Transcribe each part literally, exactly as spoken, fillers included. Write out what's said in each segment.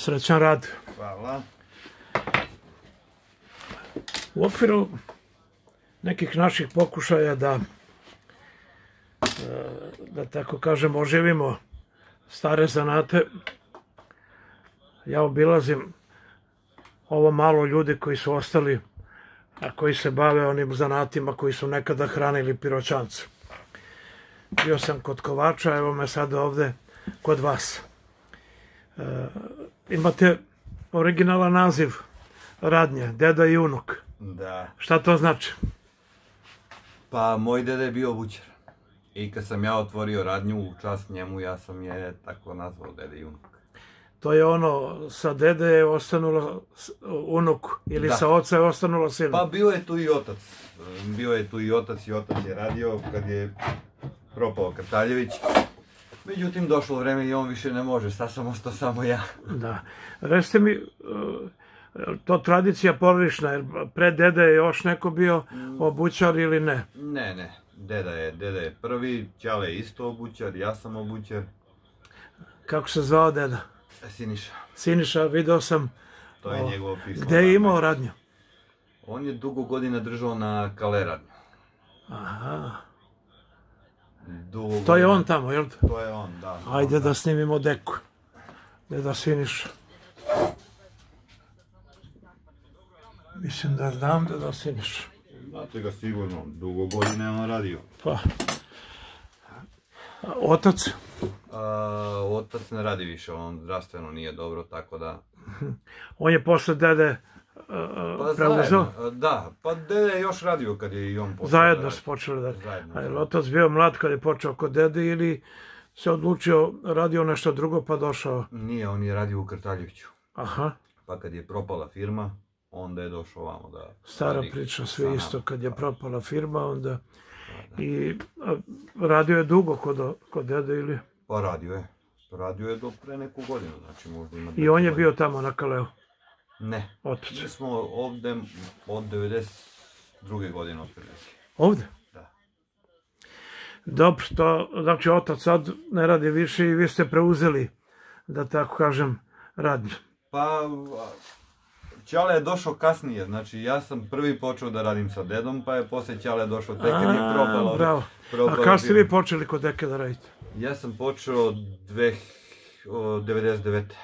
Srećan rad. Hvala. U okviru nekih naših pokušaja da, da tako kažem, oživimo stare zanate, ja obilazim ovo malo ljudi koji su ostali, a koji se bave onim zanatima koji su nekada hranili Piroćance. Bio sam kod kovača, evo me sad ovde kod vas. E, imate originalan naziv radnje, deda i unuk. Da. Šta to znači? Pa moj deda je bio obućar. I kad sam ja otvorio radnju u čast njemu, ja sam je tako nazvao deda i unuk. To je ono, sa dede je ostanulo unuk ili Da. sa oca je ostanulo sinu? Pa bio je tu i otac. Bio je tu i otac i otac je radio kad je propao Krtaljević. Međutim, došlo vreme i on više ne može, sad sam ostao samo ja. Da. Recite mi, to tradicija porodična, jer pre dede je još neko bio obućar ili ne? Ne, ne. Deda je, deda je prvi, Ćale je isto obućar, ja sam obućar. Kako se zvao deda? Siniša. Siniša, video sam. To je njegovo pismo. Gde je imao radnju? On je dugo godina držao na Kale radnju. Aha. Dugo To je godina- on tamo, jel? To je on, da. Ajde On, da snimimo deku. Deda Siniša. Mislim da znam deda Siniša. Znate ga sigurno, dugo godina je on radio. Pa. Otac? A, otac ne radi više, on zdravstveno nije dobro, tako da... On je posle dede Pa preuzeo? zajedno, da, pa dede je još radio kad je i on počeo. Zajedno da su radi. počeli da... Zajedno, A je li da. otac bio mlad kad je počeo kod dede ili se odlučio, radio nešto drugo pa došao? Nije, on je radio u Krtaljeviću. Aha, Pa kad je propala firma, onda je došao ovamo da... stara radi priča, sa sve nama. isto. Kad je Pa, propala firma, onda... da. I a, radio je dugo kod, kod dede ili... Pa radio je. Radio je do pre neku godinu, znači možda ima... I on je neku bio tamo na Kaleu, godinu. Ne. otac. Mi smo ovde od devedeset druge godine otprilike. Ovde? Da. Dobro, to znači otac sad ne radi više i vi ste preuzeli, da tako kažem, radnju. Pa, Ćale je došao kasnije, znači ja sam prvi počeo da radim sa dedom, pa je posle Ćale došao tek kad je A, propalo. bravo. propalo A kada ste firma. vi počeli kod deke da radite? Ja sam počeo dve, o, devedeset devete.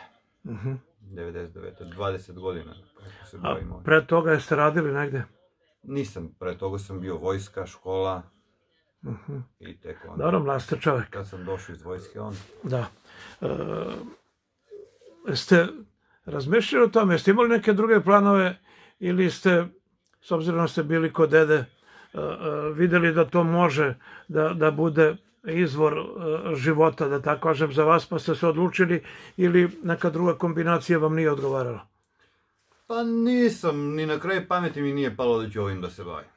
Mhm. devedeset devete, dvadeset godina, kako se A bavim ovim. pre toga jeste radili negde? Nisam, pre toga sam bio vojska, škola Mhm. i tek onda. Dobro, mlad ste čovek. Kad sam došao iz vojske, onda. Da. E, ste razmišljali o tome, jeste imali neke druge planove ili ste, s obzirom da ste bili kod dede, e, e, videli da to može da, da bude izvor e, života, da tako kažem, za vas, pa ste se odlučili ili neka druga kombinacija vam nije odgovarala? Pa nisam, ni na kraju pameti mi nije palo da ću ovim da se bavim.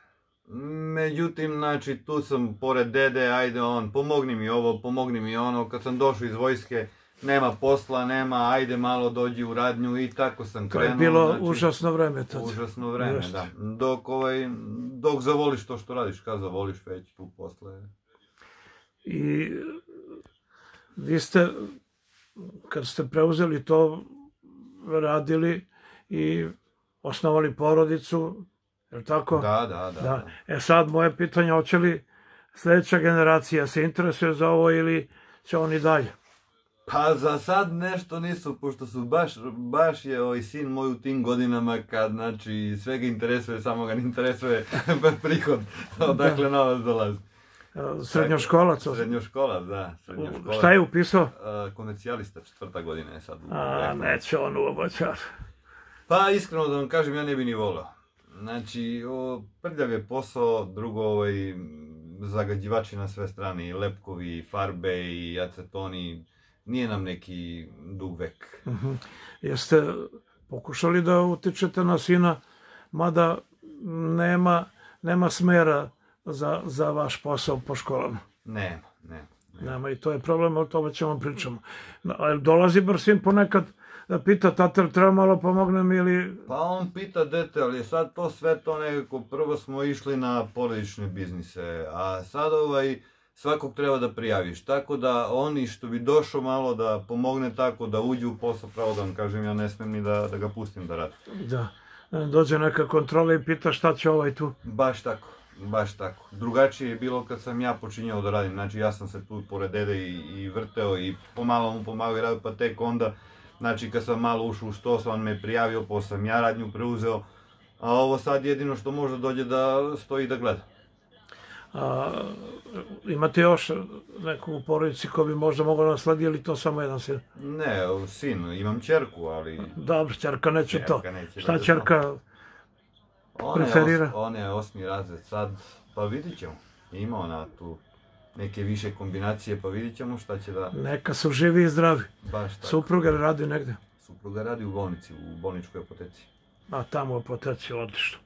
Međutim, znači, tu sam pored dede, ajde on, pomogni mi ovo, pomogni mi ono, kad sam došao iz vojske, nema posla, nema, ajde malo dođi u radnju i tako sam To krenuo. je bilo znači, užasno vreme tad. Užasno vreme, Jeste. da. Dok, ovaj, dok zavoliš to što radiš, kad zavoliš već tu posle. I vi ste, kad ste preuzeli to, radili i osnovali porodicu, je li tako? Da, da, da. Da. E sad, moje pitanje, hoće li sljedeća generacija se interesuje za ovo ili će oni dalje? Pa za sad nešto nisu, pošto su baš, baš je ovaj sin moj u tim godinama kad, znači, sve ga interesuje, samo ga ne interesuje prihod, odakle novac dolazi. Srednjoškolac? Srednjoškolac, da, srednjoškolac. Šta je upisao? A, komercijalista, četvrta godina je sad. u A, ekonomiji. neće on u obočar. Pa iskreno da vam kažem, ja ne bi ni volio. Znači, o, prljav je posao, drugo, ovaj, zagađivači na sve strane, i lepkovi, i farbe, i acetoni, nije nam neki dug vek. Mhm. Jeste pokušali da utičete na sina, mada nema, nema smera za, za vaš posao po školama? Nema, nema. nema. Nema, i to je problem, o tome ćemo pričamo. No, a jel dolazi bar sin ponekad da pita, tatar, treba malo pomognem ili... Pa on pita dete, ali sad to sve to nekako, prvo smo išli na porodične biznise, a sad ovaj, svakog treba da prijaviš. Tako da oni što bi došao malo da pomogne tako, da uđe u posao, pravo da vam kažem, ja ne smem ni da, da ga pustim da radi. Da. Dođe neka kontrola i pita šta će ovaj tu. Baš tako, baš tako. Drugačije je bilo kad sam ja počinjao da radim. Znači ja sam se tu pored dede i, i vrteo i pomalo mu pomagao i radio, pa tek onda, znači kad sam malo ušao u što, on me prijavio, pa sam ja radnju preuzeo. A ovo sad jedino što može dođe da stoji da gleda. A, imate još neku u porodici ko bi možda mogao nasledi ili to samo jedan sin? Ne, sin, imam ćerku, ali... Dobro, ćerka neće to. Ćerka neće Šta da ćerka Ona je, preferira? os, ona je osmi razred sad, pa vidit ćemo. Ima ona tu neke više kombinacije, pa vidit ćemo šta će da... Neka su živi i zdravi. Baš tako. Supruga radi negde? Supruga radi u bolnici, u bolničkoj apoteci. A tamo u apoteci, odlično.